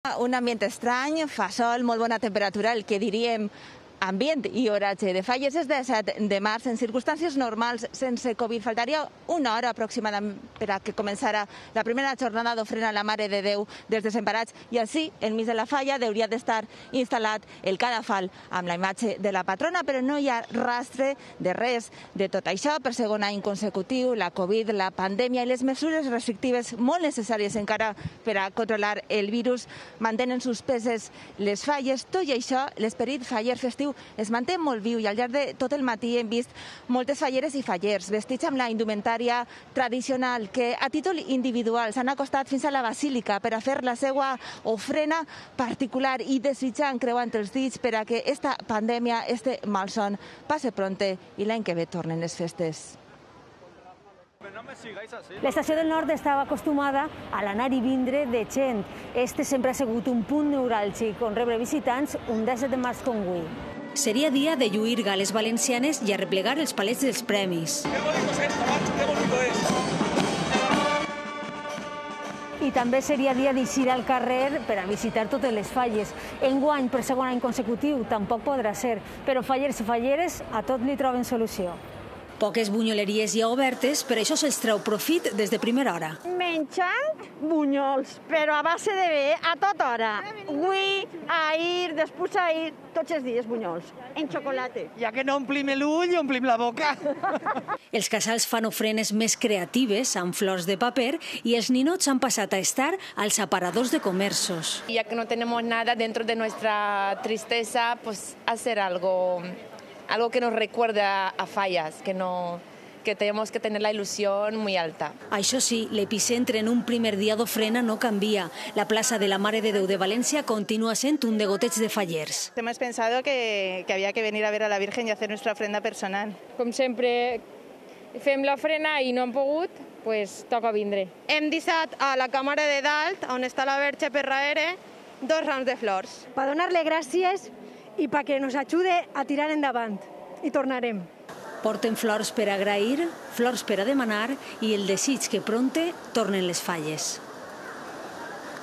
Un ambient estrany, fa sol, molt bona temperatura, el que diríem ambient i horatge de falles. És 17 de març, en circumstàncies normals, sense Covid. Faltaria una hora aproximadament per a que començara la primera jornada d'ofrena a la Mare de Déu dels Desemparats, i així, enmig de la falla, hauria d'estar instal·lat el cadafal amb la imatge de la patrona, però no hi ha rastre de res de tot això. Per segon any consecutiu, la Covid, la pandèmia i les mesures restrictives molt necessàries encara per a controlar el virus mantenen suspeses les falles. Tot i això, l'esperit faller festiu es manté molt viu, i al llarg de tot el matí hem vist moltes falleres i fallers vestits amb la indumentària tradicional que a títol individual s'han acostat fins a la basílica per a fer la seva ofrena particular i desitjant, creuant els dits, per a que esta pandèmia, este malson, passe pronte i l'any que ve tornen les festes. L'estació del Nord estava acostumada a l'anar i vindre de gent. Este sempre ha sigut un punt neuràlgic on rebre visitants un 17 de març com avui. Seria dia de lluir gales valencianes i arreplegar els palets dels premis. ¡Qué bonito es esto, macho! ¡Qué bonito es! I també seria dia d'eixir al carrer per a visitar totes les falles. Enguany, per segon any consecutiu, tampoc podrà ser, però fallers i falleres a tot li troben solució. Poques bunyoleries hi ha obertes, per això se'ls treu profit des de primera hora. Menjant bunyols, però a base de bé, a tota hora. Avui, ahir, després ahir, tots els dies bunyols, en xocolata. Ja que no omplim l'ull, omplim la boca. Els casals fan ofrenes més creatives amb flors de paper i els ninots han passat a estar als aparadors de comerços. Ya que no tenemos nada dentro de nuestra tristeza, pues hacer algo que nos recuerde a fallas, que tenemos que tener la ilusión muy alta. Això sí, l'epicentre en un primer dia d'ofrena no canvia. La plaça de la Mare de Déu de València continua sent un degoteig de fallers. Hemos pensado que había que venir a ver a la Virgen y hacer nuestra ofrenda personal. Com sempre fem l'ofrena i no hem pogut, pues toca vindre. Hem deixat a la càmera de dalt, on està la Verge per darrere, 2 rams de flors. Per donar-li gràcies i perquè ens ajude a tirar endavant. I tornarem. Porten flors per agrair, flors per a demanar i el desig que pronte tornen les falles.